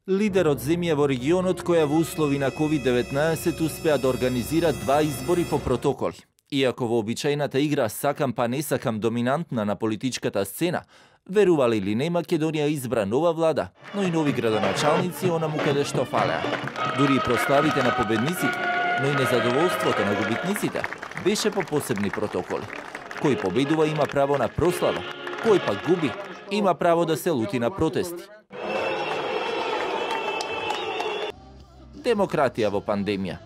Лидер од земја во регионот која во услови на COVID-19 успеа да организира 2 избори по протоколи. Иако во обичајната игра сакам па не сакам доминантна на политичката сцена, верували или не, Македонија избра нова влада, но и нови градоначалници онаму каде што фалеа. Дури и прославите на победниците, но и незадоволството на губитниците беше по посебни протоколи. Кој победува има право на прослава, кој пак губи има право да се лути на протести. Демократија во пандемија.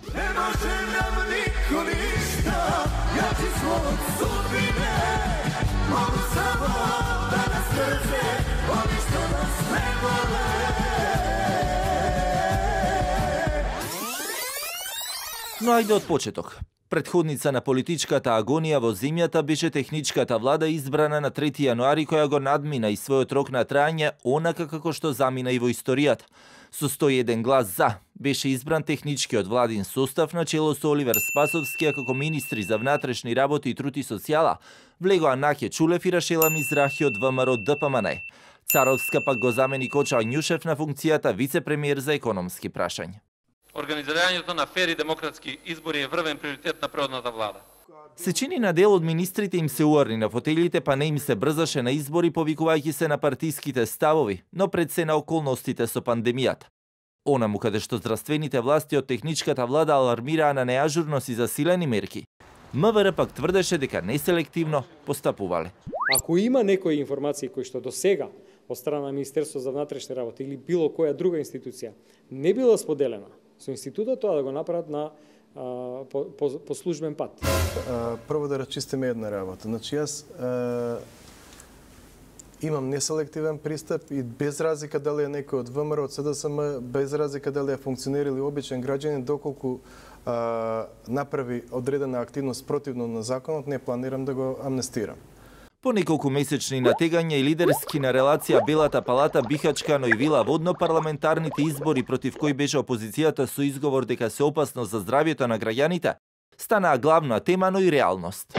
Но ајде од почеток. Претходница на политичката агонија во земјата беше техничката влада избрана на 3 јануари која го надмина и својот рок на трајање онака како што замина и во историјата. Со 101 глас за беше избран техничкиот владин состав на чело со Оливер Спасовски како министри за внатрешни работи и труд и социјала, влегоа Наке Чулев и Рашела Мизрахи од ВМРО ДПМН. Царовска пак го замени Коча Ањушев на функцијата вице-премиер за економски прашања. Организирањето на фер и демократски избори е врвен приоритет на предходната влада. Се чини на дел од министрите им се уарни на фотелите, па не им се брзаше на избори, повикувајќи се на партиските ставови, но пред се на околностите со пандемијата. Онаму каде што здравствените власти од техничката влада алармираа на неажурност и засилени мерки, МВР пак тврдеше дека неселективно постапувале. Ако има некои информации кои што до сега од страна на Министерството за внатрешни работи или било која друга институција не била споделена со институтот, тоа да го направат на по службен пат. Прво да рачистиме една работа. Значи јас имам неселективен пристап и без разлика дали е некој од ВМРО, од СДСМ, без разлика дали е функционер или обичен граѓанин, доколку направи одредена активност противно на законот, не планирам да го амнестирам. По неколку месечни натегања и лидерски на релација Белата палата, Бихачка, но и Вила Водно, парламентарните избори против кои беше опозицијата со изговор дека се опасно за здравјето на граѓаните, станаа главна тема, но и реалност.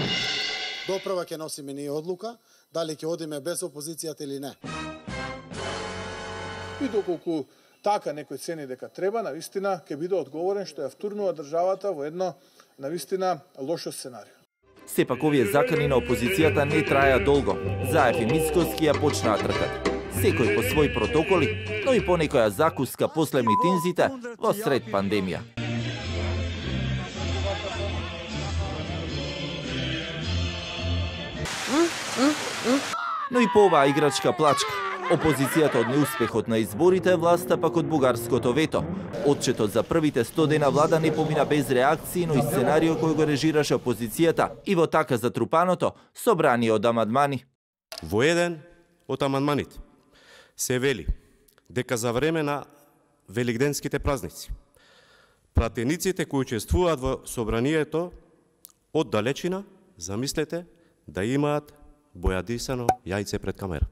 Доправа ќе носиме ние одлука, дали ќе одиме без опозицијата или не. И доколку така некој цени дека треба, навистина ќе биде одговорен што ја втурнува државата во едно навистина лошо сценарио. Сепак овие закани на опозицијата не траја долго. Заев и Мицкоски ја почнаа тркат. Секој по свој протоколи, но и по некоја закуска после митинзите во сред пандемија. Но и по оваа играчка плачка. Опозицијата од неуспехот на изборите, власта пак од бугарското вето. Отчетот за првите 100 дена влада не помина без реакции, но и сценарио кој го режираше опозицијата и во така затрупаното собрание од амандмани. Во еден од амандманите се вели дека за време на велигденските празници пратениците кои учествуваат во собранието од далечина, замислете, да имаат бојадисано јајце пред камера.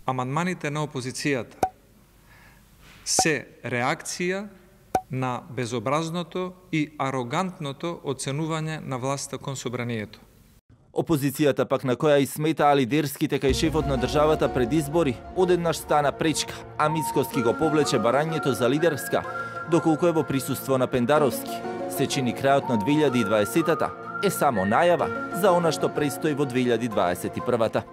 Амандманите на опозицијата се реакција на безобразното и арогантното оценување на власта кон собранието. Опозицијата пак на која и сметаа лидерските кај шефот на државата пред избори, одеднаш стана пречка, а Мицкоски го повлече барањето за лидерска, доколку е во присуство на Пендаровски. Се чини крајот на 2020-та е само најава за она што престои во 2021-та.